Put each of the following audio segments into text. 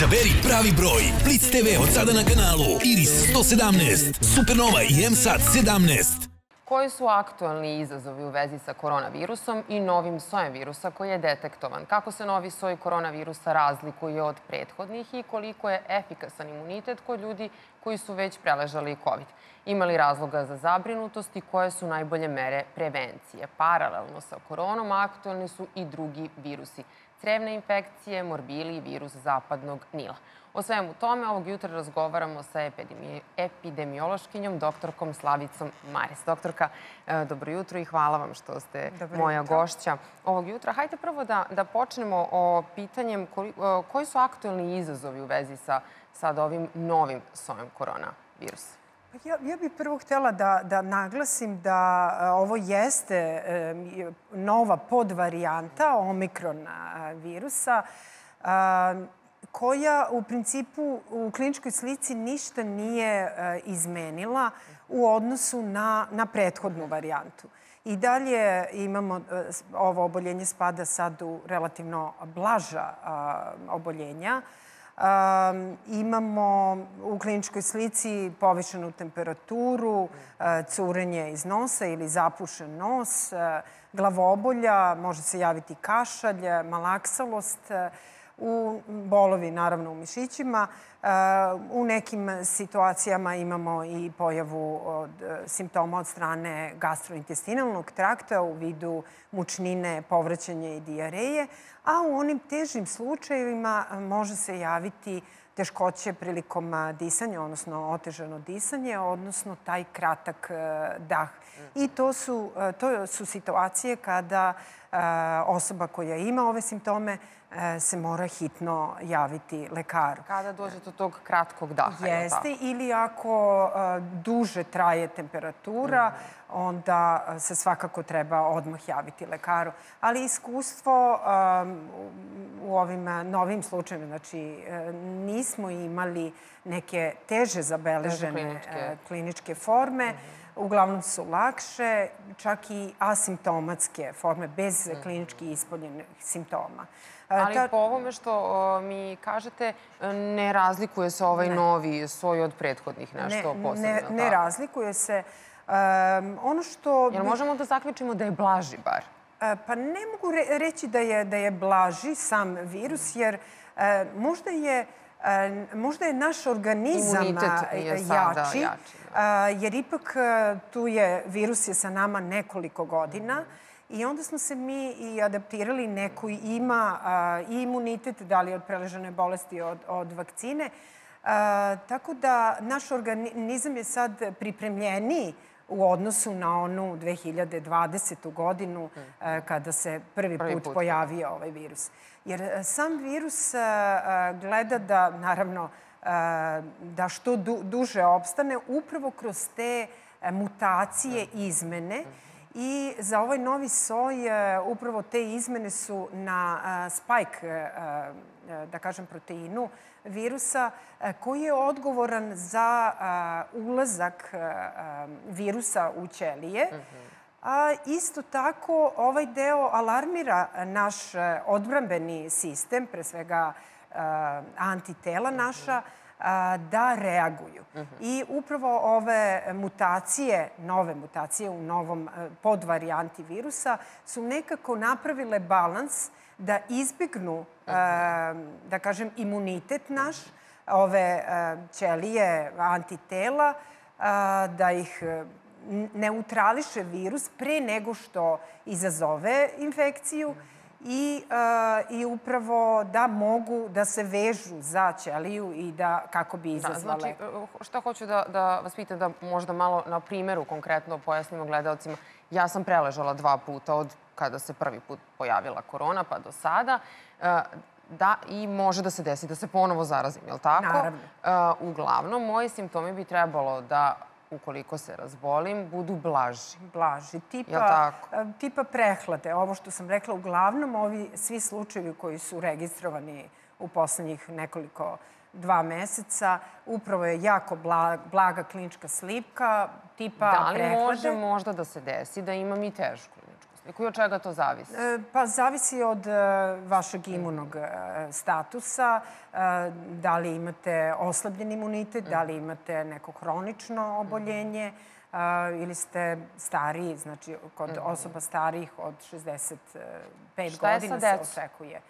Izaberi pravi broj. Blitz TV od sada na kanalu Iris 117, Supernova i MSAT 17. Koji su aktualni izazovi u vezi sa koronavirusom i novim sojem virusa koji je detektovan? Kako se novi soj koronavirusa razlikuje od prethodnih i koliko je efikasan imunitet kod ljudi koji su već preležali COVID? Ima li razloga za zabrinutost i koje su najbolje mere prevencije? Paralelno sa koronom aktualni su i drugi virusi. Crevne infekcije, morbili i virus zapadnog Nila. O svemu tome ovog jutra razgovaramo sa epidemiološkinjom doktorkom Slavicom Mares. Doktorka, dobro jutro i hvala vam što ste moja gošća ovog jutra. Hajde prvo da počnemo o pitanjem koji su aktualni izazovi u vezi sa sad ovim novim sojem koronavirusa. Ja bih prvo htjela da naglasim da ovo jeste nova podvarijanta omikron virusa koja u principu u kliničkoj slici ništa nije izmenila u odnosu na prethodnu varijantu. I dalje imamo, ovo oboljenje spada sad u relativno blaža oboljenja. Imamo u kliničkoj slici povišenu temperaturu, curenje iz nosa ili zapušen nos, glavobolja, može se javiti kašalj, malaksalost, bolovi naravno u mišićima. U nekim situacijama imamo i pojavu simptoma od strane gastrointestinalnog trakta u vidu mučnine, povraćanja i dijareje, a u onim težim slučajevima može se javiti teškoće prilikom disanja, odnosno otežano disanje, odnosno taj kratak dah. I to su situacije kada osoba koja ima ove simptome se mora hitno javiti lekaru. Kada dođe do tog kratkog daha? Jeste, ili ako duže traje temperatura, onda se svakako treba odmah javiti lekaru. Ali iskustvo u ovim novim slučajima, znači nismo imali neke teže zabeležene kliničke forme, uglavnom su lakše, čak i asimptomatske forme, bez klinički ispoljenih simptoma. Ali po ovome što mi kažete, ne razlikuje se ovaj novi soj od prethodnih nešto posebno? Ne razlikuje se. Jel možemo da zaključimo da je blaži bar? Pa ne mogu reći da je blaži sam virus, jer možda je naš organizam jači, jer ipak virus je sa nama nekoliko godina i onda smo se mi i adaptirali, neko ima i imunitet, da li od preležane bolesti, od vakcine. Tako da naš organizam je sad pripremljeniji u odnosu na onu 2020. godinu kada se prvi put pojavio ovaj virus. Jer sam virus gleda da, naravno, da što duže opstane upravo kroz te mutacije, izmene. I za ovaj novi soj upravo te izmene su na spike, da kažem, proteinu virusa koji je odgovoran za ulazak virusa u ćelije. A isto tako ovaj deo alarmira naš odbrambeni sistem, pre svega antitela naša, da reaguju. I upravo ove mutacije, nove mutacije u novom podvarijanti virusa su nekako napravile balans da izbjegnu, da kažem, imunitet naš, ove ćelije antitela, da ih neutrališe virus pre nego što izazove infekciju i upravo da mogu da se vežu za ćeliju i da kako bi izazvale. Znači, šta hoću da vas pitam, da možda malo na primjeru konkretno pojasnimo gledalcima. Ja sam preležala 2 puta od kada se prvi put pojavila korona pa do sada. Da, i može da se desi da se ponovo zarazim, je li tako? Naravno. Uglavnom, moji simptomi bi trebalo da, ukoliko se razbolim, budu blaži. Blaži, tipa prehlade. Ovo što sam rekla, uglavnom ovi svi slučajevi koji su registrovani u poslednjih nekoliko 2 meseca, upravo je jako blaga klinička slika, tipa prehlade. Da li može možda da se desi da imam i tešku kliničku sliku? I od čega to zavisi? Pa zavisi od vašeg imunog statusa, da li imate oslabljen imunitet, da li imate neko hronično oboljenje ili ste stariji, znači kod osoba starijih od 65 godina se očekuje.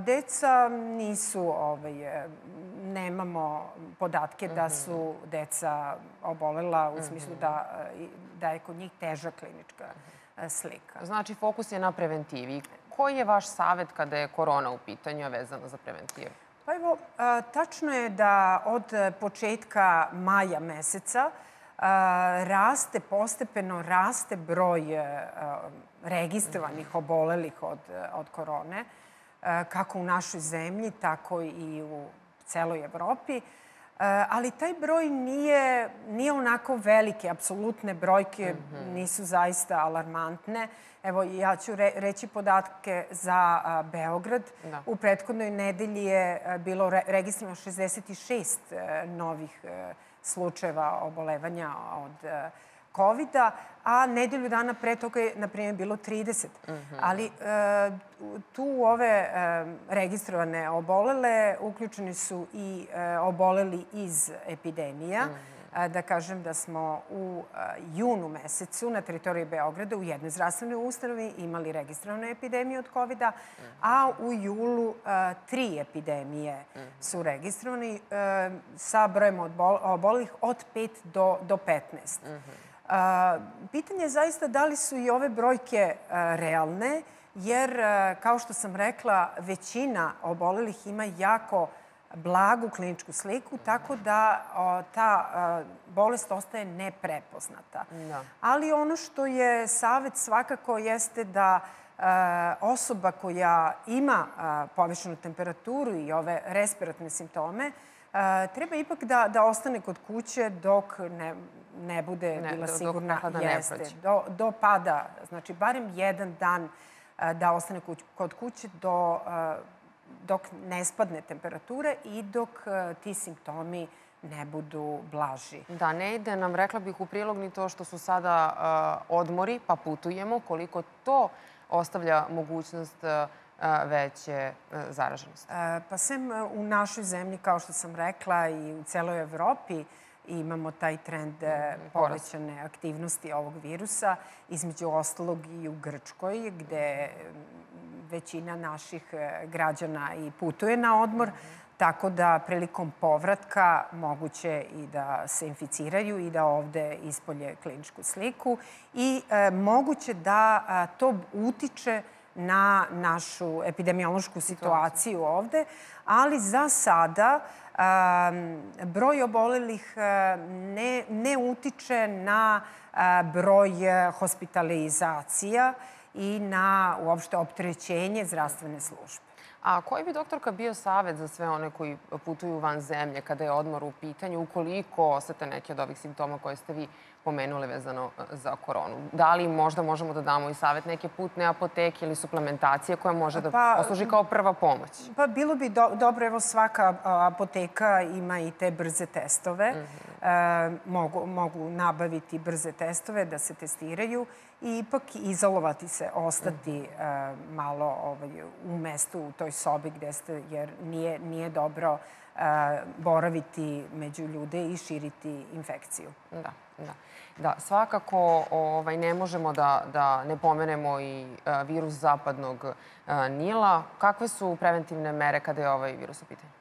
Deca nisu, nemamo podatke da su deca obolela u smislu da je kod njih teža klinička slika. Znači, fokus je na preventivi. Koji je vaš savjet kada je korona u pitanju, a vezano za preventivu? Pa evo, tačno je da od početka maja meseca postepeno raste broj registrovanih obolelih od korone, kako u našoj zemlji, tako i u celoj Evropi. Ali taj broj nije onako veliki. Apsolutne brojke nisu zaista alarmantne. Evo, ja ću reći podatke za Beograd. U prethodnoj nedelji je bilo registrovano 66 novih slučajeva obolevanja od COVID-a, a nedelju dana pre toga je, na primjer, bilo 30. Ali tu u ove registrovane obolele uključeni su i oboleli iz epidemija. Da kažem da smo u junu mesecu na teritoriji Beograda u jednoj zdravstvenoj ustanovi imali registrovanu epidemiju od COVID-a, a u julu 3 epidemije su registrovani sa brojem obolelih od 5 do 15. Pitanje je zaista da li su i ove brojke realne, jer, kao što sam rekla, većina obolelih ima jako blagu kliničku sliku, tako da ta bolest ostaje neprepoznata. Ali ono što je savjet svakako jeste da osoba koja ima povišenu temperaturu i ove respiratorne simptome treba ipak da ostane kod kuće dok ne bude bila sigurna jeste. Do pada, znači barem jedan dan da ostane kod kuće dok ne spadne temperatura i dok ti simptomi ne budu blaži. Da, ne ide nam, rekla bih, u prilog ni to što su sada odmori, pa putujemo, koliko to ostavlja mogućnost veće zaraženosti. Pa sem u našoj zemlji, kao što sam rekla, i u celoj Evropi imamo taj trend povećane aktivnosti ovog virusa, između ostalog i u Grčkoj, gde većina naših građana i putuje na odmor, tako da prilikom povratka moguće i da se inficiraju i da ovde ispolje kliničku sliku i moguće da to utiče na našu epidemiološku situaciju ovde, ali za sada broj obolelih ne utiče na broj hospitalizacija i na uopšte opterećenje zdravstvene službe. A koji bi, doktorka, bio savjet za sve one koji putuju van zemlje kada je odmor u pitanju, ukoliko osete neke od ovih simptoma koje ste vi pomenuli vezano za koronu? Da li možda možemo da damo i savjet neke putne apoteke ili suplementacije koja može da posluži kao prva pomoć? Pa bilo bi dobro, evo svaka apoteka ima i te brze testove. Mogu nabaviti brze testove da se testiraju i ipak izolovati se, ostati malo u mestu, u toj sobi gde ste, jer nije dobro boraviti među ljude i širiti infekciju. Da, svakako ne možemo da ne pomenemo i virus zapadnog Nila. Kakve su preventivne mere kada je ovaj virus u pitanju?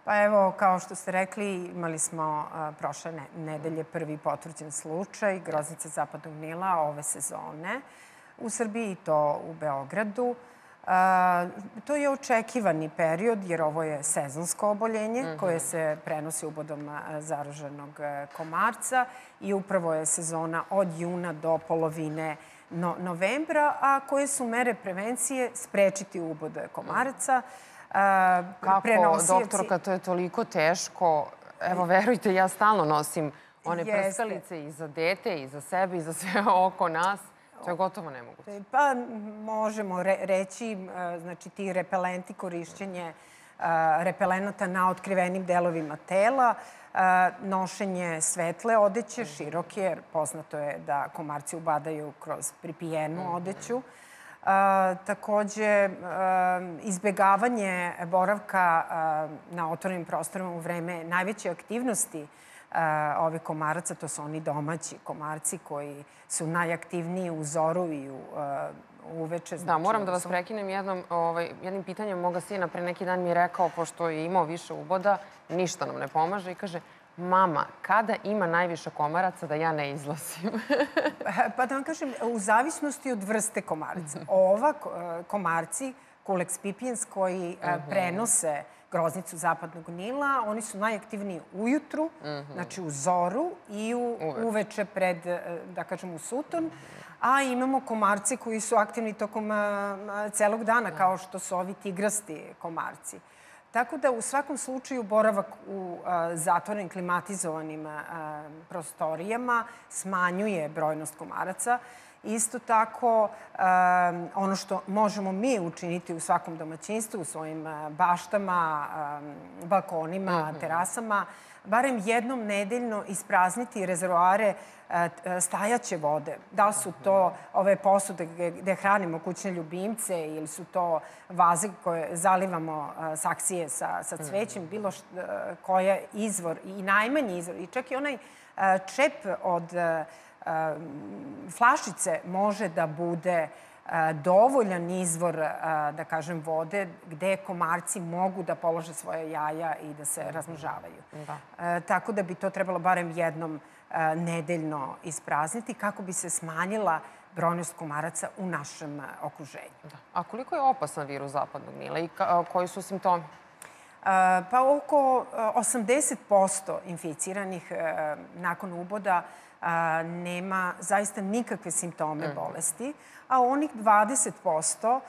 Pa evo, kao što ste rekli, imali smo prošle nedelje prvi potvrđen slučaj groznice zapadnog Nila ove sezone u Srbiji i to u Beogradu. To je očekivani period jer ovo je sezonsko oboljenje koje se prenosi ubodom zaraženog komarca i upravo je sezona od juna do polovine novembra, a koje su mere prevencije sprečiti ubod komaraca. Kako, doktorka, to je toliko teško. Evo, verujte, ja stalno nosim one prskalice i za dete, i za sebe, i za sve oko nas. To je gotovo nemoguće. Pa možemo reći, znači ti repelenti, korišćenje repelenata na otkrivenim delovima tela, nošenje svetle odeće, široke, jer poznato je da komarci ubadaju kroz pripijenu odeću. Takođe, izbegavanje boravka na otvorenim prostorima u vreme najveće aktivnosti ovih komaraca, to su oni domaći komarci koji su najaktivniji u zoru i uveče. Da, moram da vas prekinem jednim pitanjem. Moga sina pre neki dan mi je rekao, pošto je imao više uboda, ništa nam ne pomaže i kaže: mama, kada ima najviše komaraca da ja ne izlazim? Pa da vam kažem, u zavisnosti od vrste komaraca. Ova komarci, Culex pipiens, koji prenose groznicu zapadnog Nila, oni su najaktivniji ujutru, znači u zoru i uveče pred, da kažem, u suton. A imamo komarce koji su aktivni tokom celog dana, kao što su ovi tigrasti komarci. Tako da u svakom slučaju boravak u zatvorenim klimatizovanim prostorijama smanjuje brojnost komaraca. Isto tako, ono što možemo mi učiniti u svakom domaćinstvu, u svojim baštama, balkonima, terasama, barem jednom nedeljno isprazniti rezervoare stajaće vode. Da li su to ove posude gde hranimo kućne ljubimce ili su to vaze koje zalivamo saksije sa cvećem, bilo koja izvor i najmanji izvor. I čak i onaj čep od flašice može da bude dovoljan izvor, da kažem, vode gde komarci mogu da polože svoje jaja i da se razmnožavaju. Tako da bi to trebalo barem jednom nedeljno isprazniti kako bi se smanjila brojnost komaraca u našem okruženju. A koliko je opasan virus zapadnog Nila i koji su simptomi? Pa oko 80% inficiranih nakon uboda nema zaista nikakve simptome bolesti, a onih 20%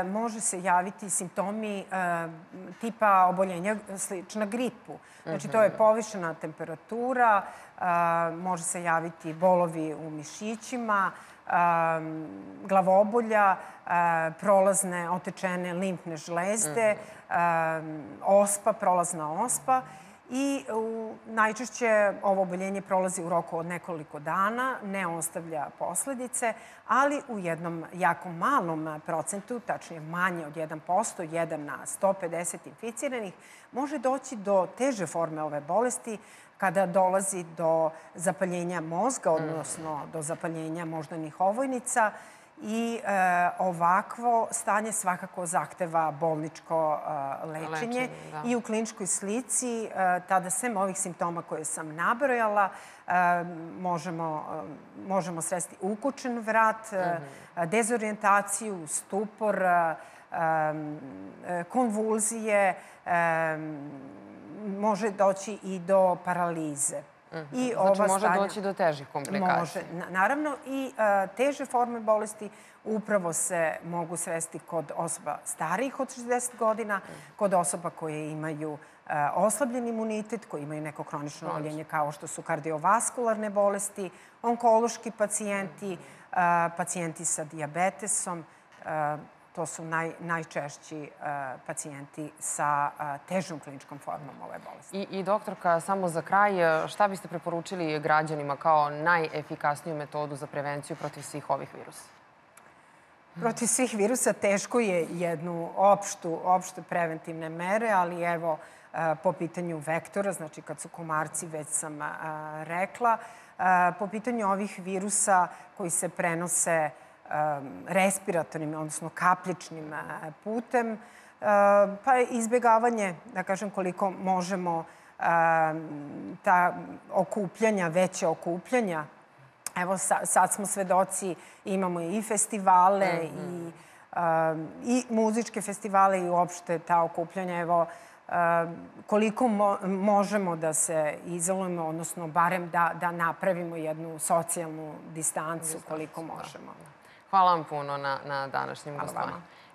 može se javiti simptomi tipa oboljenja slična gripu. Znači, to je povišena temperatura, može se javiti bolovi u mišićima, glavobolja, prolazne otečene limfne žlezde, ospa, prolazna ospa. I najčešće ovo oboljenje prolazi u roku od nekoliko dana, ne ostavlja posledice, ali u jednom jako malom procentu, tačnije manje od 1%, 1 na 150 inficiranih, može doći do teže forme ove bolesti kada dolazi do zapaljenja mozga, odnosno do zapaljenja moždanih ovojnica. I ovakvo stanje svakako zahteva bolničko lečenje. I u kliničkoj slici, tada sem ovih simptoma koje sam nabrojala, možemo sresti ukučen vrat, dezorijentaciju, stupor, konvulzije, može doći i do paralize. Znači, može doći do težih komplikacija. Može, naravno. I teže forme bolesti upravo se mogu sresti kod osoba starijih od 60 godina, kod osoba koje imaju oslabljen imunitet, koji imaju neko hronično oboljenje kao što su kardiovaskularne bolesti, onkološki pacijenti, pacijenti sa dijabetesom. To su najčešći pacijenti sa težom kliničkom formom ove bolesti. I doktorka, samo za kraj, šta biste preporučili građanima kao najefikasniju metodu za prevenciju protiv svih ovih virusa? Protiv svih virusa teško je jednu opšte preventivne mere, ali evo, po pitanju vektora, znači kad su komarci, već sam rekla, po pitanju ovih virusa koji se prenose respiratornim, odnosno kapljičnim putem, pa izbjegavanje, da kažem, koliko možemo ta okupljanja, veće okupljanja. Evo, sad smo svedoci, imamo i festivale i muzičke festivale i uopšte ta okupljanja. Evo, koliko možemo da se izolujemo, odnosno barem da napravimo jednu socijalnu distancu, koliko možemo. Hvala vam puno na današnjem gostovanju.